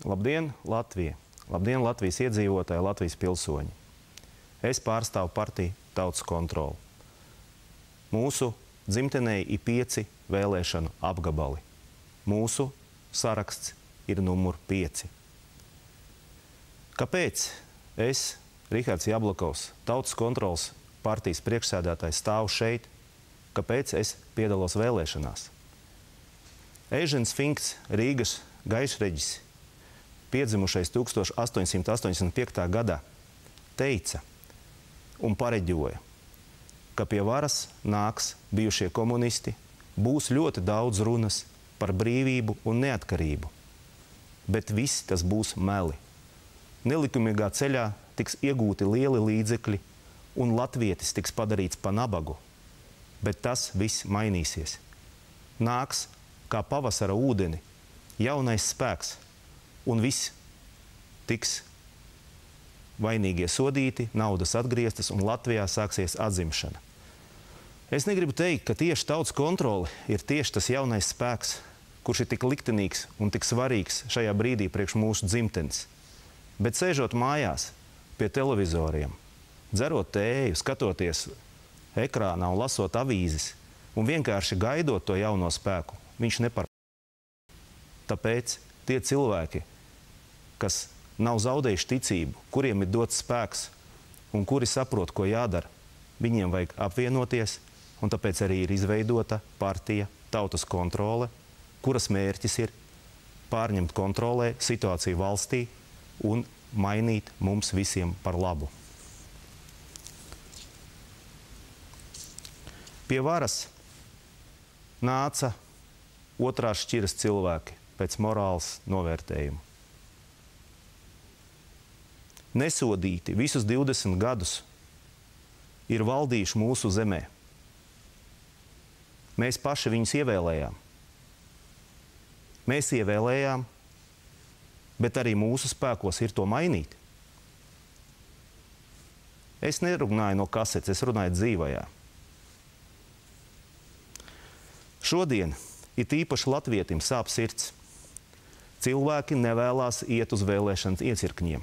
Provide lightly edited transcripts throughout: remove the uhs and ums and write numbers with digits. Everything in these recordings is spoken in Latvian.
Labdien, Latvija! Labdien, Latvijas iedzīvotāji, Latvijas pilsoņi! Es pārstāvu partiju Tautas kontroli. Mūsu dzimtenē ir 5 vēlēšanu apgabali. Mūsu saraksts ir numur 5. Kāpēc es, Rihards Jablakovs, Tautas kontroles partijas priekšsēdētājs, stāvu šeit? Kāpēc es piedalos vēlēšanās? Eižens Finkts, Rīgas gaišreģis, piedzimušais 1885. gadā, teica un pareģoja, ka pie varas nāks bijušie komunisti, būs ļoti daudz runas par brīvību un neatkarību, bet viss tas būs meli. Nelikumīgā ceļā tiks iegūti lieli līdzekļi un latvietis tiks padarīts pa nabagu, bet tas viss mainīsies. Nāks kā pavasara ūdeni jaunais spēks, un viss tiks vainīgie sodīti, naudas atgrieztas, un Latvijā sāksies atzimšana. Es negribu teikt, ka tieši Tautas kontrole ir tieši tas jaunais spēks, kurš ir tik liktenīgs un tik svarīgs šajā brīdī priekš mūsu dzimtenes. Bet sēžot mājās pie televizoriem, dzerot tēju, skatoties ekrānā un lasot avīzes, un vienkārši gaidot to jauno spēku, viņš neparādās. Tāpēc tie cilvēki, kas nav zaudējuši ticību, kuriem ir dots spēks un kuri saprot, ko jādara, viņiem vajag apvienoties, un tāpēc arī ir izveidota partija Tautas kontrole, kuras mērķis ir pārņemt kontrolē situāciju valstī un mainīt mums visiem par labu. Pie varas nāca otrās šķiras cilvēki pēc morāles novērtējuma. Nesodīti visus 20 gadus ir valdījuši mūsu zemē. Mēs paši viņus ievēlējām. Mēs ievēlējām, bet arī mūsu spēkos ir to mainīt. Es nerunāju no kasetes, es runāju dzīvajā. Šodien it īpaši latvietim sāp sirds. Cilvēki nevēlās iet uz vēlēšanas iecirkņiem.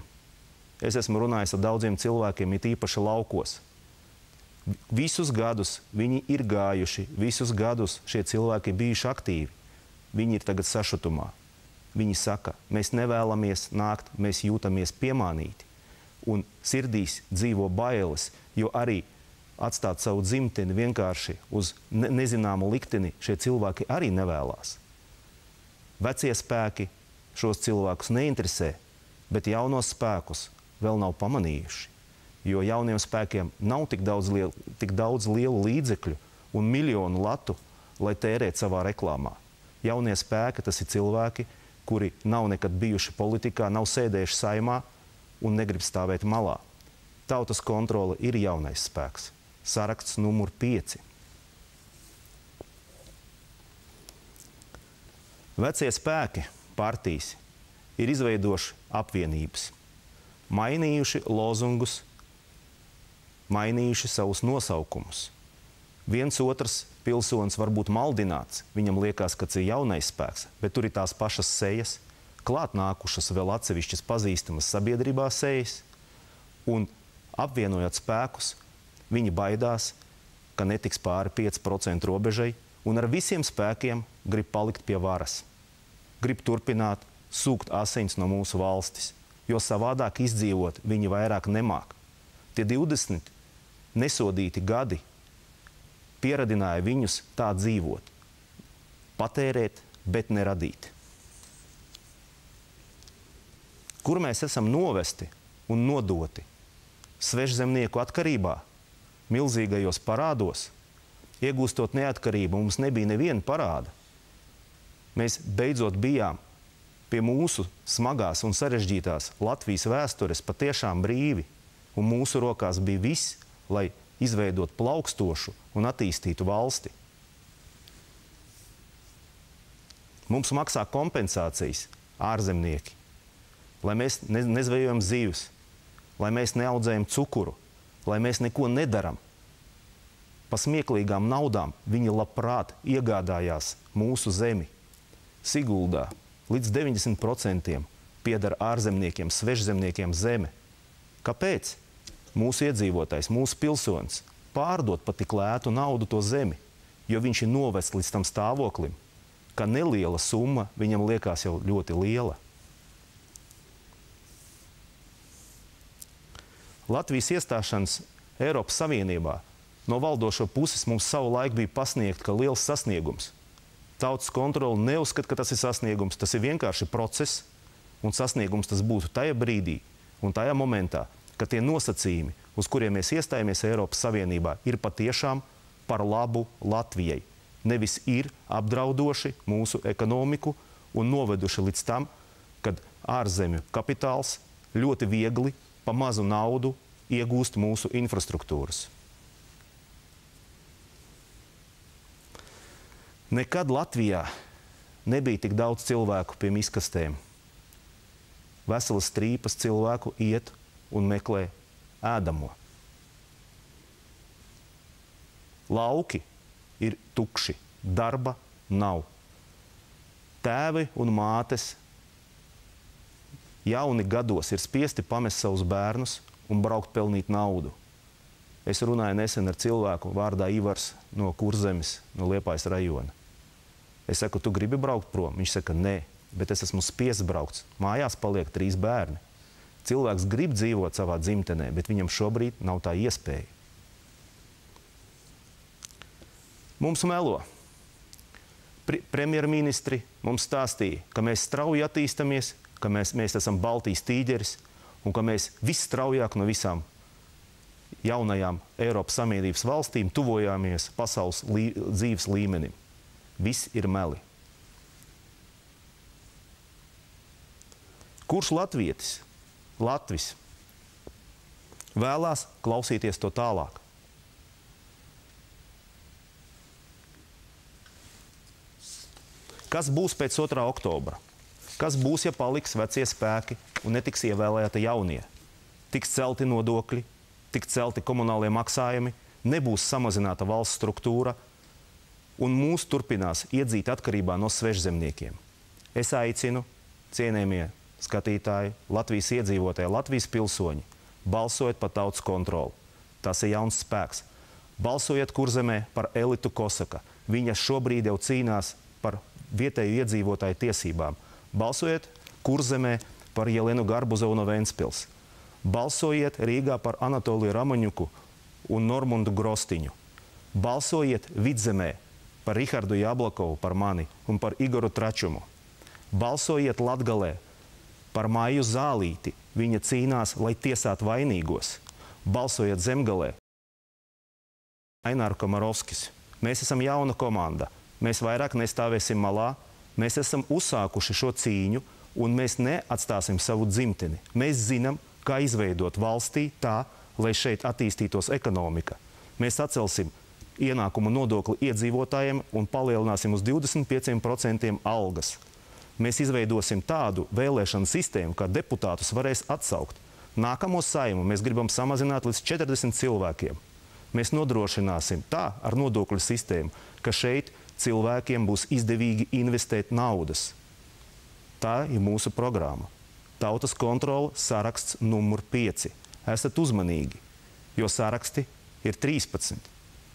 Es esmu runājis ar daudziem cilvēkiem, it īpaši laukos. Visus gadus viņi ir gājuši, visus gadus šie cilvēki bijuši aktīvi. Viņi ir tagad sašutumā. Viņi saka, mēs nevēlamies nākt, mēs jūtamies piemānīti. Un sirdīs dzīvo bailes, jo arī atstāt savu dzimteni vienkārši uz nezināmu likteni šie cilvēki arī nevēlās. Vecie spēki šos cilvēkus neinteresē, bet jaunos spēkus vēl nav pamanījuši, jo jauniem spēkiem nav tik daudz lielu līdzekļu un miljonu latu, lai tērētu savā reklāmā. Jaunie spēki, tas ir cilvēki, kuri nav nekad bijuši politikā, nav sēdējuši saimā un negrib stāvēt malā. Tautas kontrole ir jaunais spēks. Saraksts numur 5. Vecie spēki, partijas, ir izveidojuši apvienības, mainījuši lozungus, mainījuši savus nosaukumus. Viens otrs pilsonis var būt maldināts, viņam liekas, ka tas ir jaunais spēks, bet tur ir tās pašas sejas, klāt nākušas vēl atsevišķas pazīstamas sabiedrībā sejas, un apvienojot spēkus, viņi baidās, ka netiks pāri 5% robežai, un ar visiem spēkiem grib palikt pie varas. Grib turpināt sūkt asins no mūsu valstis, jo savādāk izdzīvot viņi vairāk nemāk. Tie 20 nesodīti gadi pieradināja viņus tā dzīvot. Patērēt, bet neradīt. Kur mēs esam novesti un nodoti? Svešzemnieku atkarībā, milzīgajos parādos, iegūstot neatkarību, mums nebija neviena parāda. Mēs beidzot bijām pie mūsu smagās un sarežģītās Latvijas vēstures patiešām brīvi, un mūsu rokās bija viss, lai izveidot plaukstošu un attīstītu valsti. Mums maksā kompensācijas ārzemnieki, lai mēs nezvejojam zivs, lai mēs neaudzējam cukuru, lai mēs neko nedaram. Pa smieklīgām naudām viņi labprāt iegādājās mūsu zemi. Siguldā līdz 90% pieder ārzemniekiem, svežzemniekiem zeme. Kāpēc mūsu iedzīvotājs, mūsu pilsonis pārdot par tik lētu naudu to zemi, jo viņš ir novests līdz tam stāvoklim, ka neliela summa viņam liekas jau ļoti liela. Latvijas iestāšanas Eiropas Savienībā no valdošo puses mums savu laiku bija pasniegt, ka liels sasniegums. Tautas kontrole neuzskata, ka tas ir sasniegums, tas ir vienkārši process, un sasniegums tas būtu tajā brīdī un tajā momentā, ka tie nosacījumi, uz kuriem mēs iestājamies Eiropas Savienībā, ir patiešām par labu Latvijai. Nevis ir apdraudoši mūsu ekonomiku un noveduši līdz tam, kad ārzemju kapitāls ļoti viegli pa mazu naudu iegūst mūsu infrastruktūras. Nekad Latvijā nebija tik daudz cilvēku pie miskastēm. Veselas trīpas cilvēku iet un meklē ēdamo. Lauki ir tukši, darba nav. Tēvi un mātes jauni gados ir spiesti pamest savus bērnus un braukt pelnīt naudu. Es runāju nesen ar cilvēku vārdā Ivars no Kurzemes, no Liepājas rajona. Es saku, tu gribi braukt prom? Viņš saka, nē, bet es esmu spiests braukt. Mājās paliek 3 bērni. Cilvēks grib dzīvot savā dzimtenē, bet viņam šobrīd nav tā iespēja. Mums melo. Premjerministri mums stāstīja, ka mēs strauji attīstamies, ka mēs esam Baltijas tīģeris un ka mēs visstraujāk no visām jaunajām Eiropas Savienības valstīm tuvojāmies pasaules dzīves līmenim. Viss ir meli. Kurš latvietis, Latvis, vēlās klausīties to tālāk? Kas būs pēc 2. oktobra? Kas būs, ja paliks vecie spēki un netiks ievēlēti jaunie? Tiks celti nodokļi, tiks celti komunālie maksājumi, nebūs samazināta valsts struktūra, un mūs turpinās iedzīt atkarībā no svežzemniekiem. Es aicinu, cienējamie skatītāji, Latvijas iedzīvotāji, Latvijas pilsoņi, balsojiet par tautas kontroli. Tas ir jauns spēks. Balsojiet Kurzemē par Elitu Kosaka. Viņa šobrīd jau cīnās par vietēju iedzīvotāju tiesībām. Balsojiet Kurzemē par Jelenu Garbuzovu no Ventspils. Balsojiet Rīgā par Anatoliju Ramaņuku un Normundu Grostiņu. Balsojiet Vidzemē par Rihardu Jablakovu, par mani un par Igoru Tračumu. Balsojiet Latgalē par Maiju Zālīti. Viņa cīnās, lai tiesātu vainīgos. Balsojiet Zemgalē. Aināru Komarovskis. Mēs esam jauna komanda. Mēs vairāk nestāvēsim malā. Mēs esam uzsākuši šo cīņu un mēs neatstāsim savu dzimteni. Mēs zinām, kā izveidot valstī tā, lai šeit attīstītos ekonomika. Mēs atcelsim ienākumu nodokli iedzīvotājiem un palielināsim uz 25% algas. Mēs izveidosim tādu vēlēšanu sistēmu, kā deputātus varēs atsaukt. Nākamo Saimu mēs gribam samazināt līdz 40 cilvēkiem. Mēs nodrošināsim tā ar nodokļu sistēmu, ka šeit cilvēkiem būs izdevīgi investēt naudas. Tā ir mūsu programma. Tautas kontrole saraksts numur 5. Esat uzmanīgi, jo saraksti ir 13.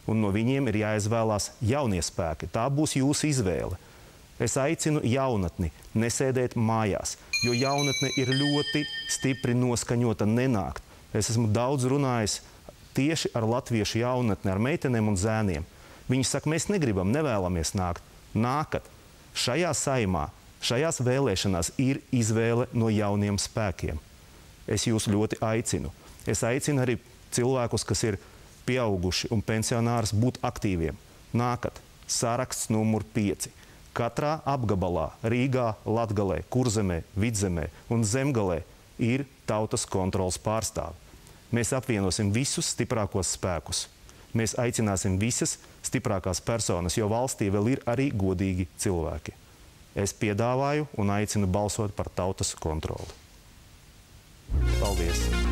Un no viņiem ir jāizvēlās jaunie spēki. Tā būs jūsu izvēle. Es aicinu jaunatni nesēdēt mājās, jo jaunatne ir ļoti stipri noskaņota nenākt. Es esmu daudz runājis tieši ar latviešu jaunatni, ar meitenēm un zēniem. Viņi saka, mēs negribam, nevēlamies nākt. Nākat. Šajā saimā, šajās vēlēšanās ir izvēle no jauniem spēkiem. Es jūs ļoti aicinu. Es aicinu arī cilvēkus, kas ir pieauguši un pensionārs, būt aktīviem. Nākat. Saraksts numur 5. Katrā apgabalā, Rīgā, Latgalē, Kurzemē, Vidzemē un Zemgalē ir tautas kontroles pārstāvi. Mēs apvienosim visus stiprākos spēkus. Mēs aicināsim visas stiprākās personas, jo valstī vēl ir arī godīgi cilvēki. Es piedāvāju un aicinu balsot par tautas kontroli. Paldies!